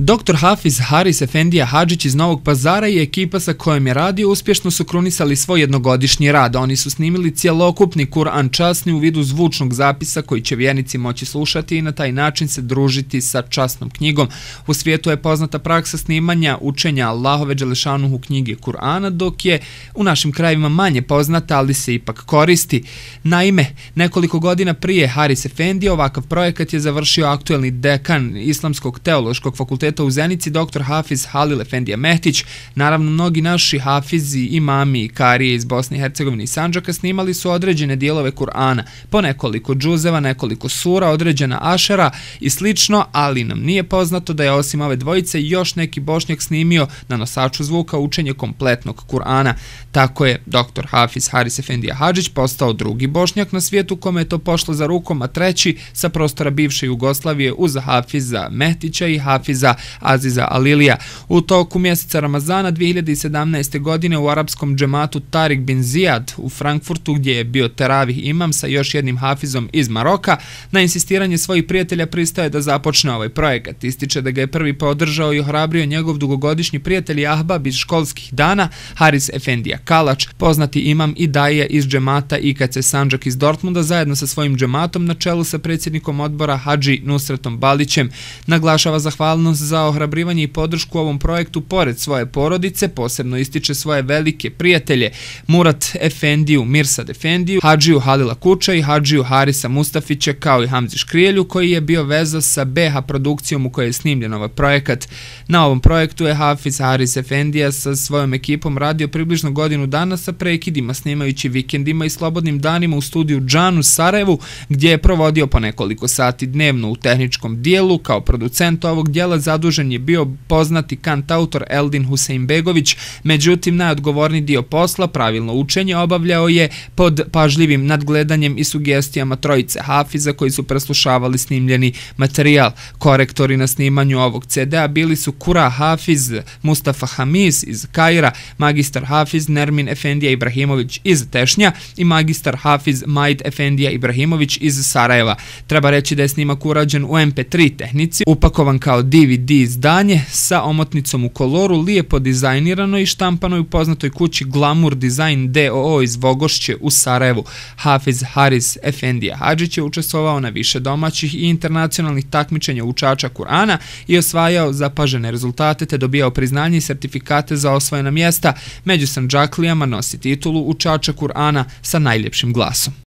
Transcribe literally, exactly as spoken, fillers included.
doktor Hafiz Haris Efendija Hadžić iz Novog Pazara i ekipa sa kojom je radio uspješno su krunisali svoj jednogodišnji rad. Oni su snimili cjelokupni Kur'an časni u vidu zvučnog zapisa koji će vjernici moći slušati i na taj način se družiti sa časnom knjigom. U svijetu je poznata praksa snimanja učenja Allahove dželešanuhu knjige Kur'ana, dok je u našim krajevima manje poznata, ali se ipak koristi. Naime, nekoliko godina prije Haris Efendija ovakav projekat je završio aktuelni dekan Islamskog teološkog fakulteta u Zenici, doktor Hafiz Halil Efendija Mehtić. Naravno, mnogi naši hafizi, imami i karije iz Bosne i Hercegovine i Sandžaka snimali su određene dijelove Kur'ana, po nekoliko džuzeva, nekoliko sura, određena ašera i slično, ali nam nije poznato da je osim ove dvojice još neki bošnjak snimio na nosaču zvuka učenje kompletnog Kur'ana. Tako je doktor Hafiz Haris Efendija Hadžić postao drugi bošnjak na svijetu kome je to pošlo za rukom, a treći sa prostora bivše Jugoslavije uz Hafiza Mehtića i Hafiza Aziza Alilija. U toku mjeseca Ramazana dvije hiljade sedamnaeste. godine u arapskom džematu Tarik bin Zijad u Frankfurtu, gdje je bio teravih imam sa još jednim hafizom iz Maroka, na insistiranje svojih prijatelja pristaje da započne ovaj projekat. Ističe da ga je prvi podržao i ohrabrio njegov dugogodišnji prijatelj i ahbab iz školskih dana Haris Efendija Kalač, poznati imam i daje iz džemata I K C Sandžak iz Dortmunda, zajedno sa svojim džematom na čelu sa predsjednikom odbora Hadži Nusretom Balićem. Naglašava zahvalnost za ohrabrivanje i podršku ovom projektu pored svoje porodice, posebno ističe svoje velike prijatelje Murat Efendiju, Mirsad Efendiju, Hadžiju Halila Kuča i Hadžiju Harisa Mustafića, kao i Hamzi Škrijelju, koji je bio veza sa B H produkcijom u kojoj je snimljen ovaj projekat. Na ovom projektu je Hafiz Haris Efendija sa svojom ekipom radio približno godinu dana sa prekidima, snimajući vikendima i slobodnim danima u studiju Džan u Sarajevu, gdje je provodio po nekoliko sati dnevno u tehničkom dijelu. Kao producent ovog dijela zadužen je bio poznati kantautor Eldin Huseinbegović, međutim najodgovorniji dio posla, pravilno učenje, obavljao je pod pažljivim nadgledanjem i sugestijama trojice hafiza koji su preslušavali snimljeni materijal. Korektori na snimanju ovog C D-a bili su Kura Hafiz Mustafa Hamis iz Kaira, magistar Hafiz Nermin Efendija Ibrahimović iz Tešnja i magistar Hafiz Majd Efendija Ibrahimović iz Sarajeva. Treba reći da je snimak urađen u M P tri tehnici, upakovan kao D V D izdanje sa omotnicom u koloru, lijepo dizajnirano i štampano u poznatoj kući Glamour Design D O O iz Vogošće u Sarajevu. Hafiz Haris Efendija Hadžić je učestvovao na više domaćih i internacionalnih takmičenja učača Kur'ana i osvajao zapažene rezultate te dobijao priznanje i sertifikate za osvojena mjesta. Među Sandžaklijama nosi titulu učača Kur'ana sa najljepšim glasom.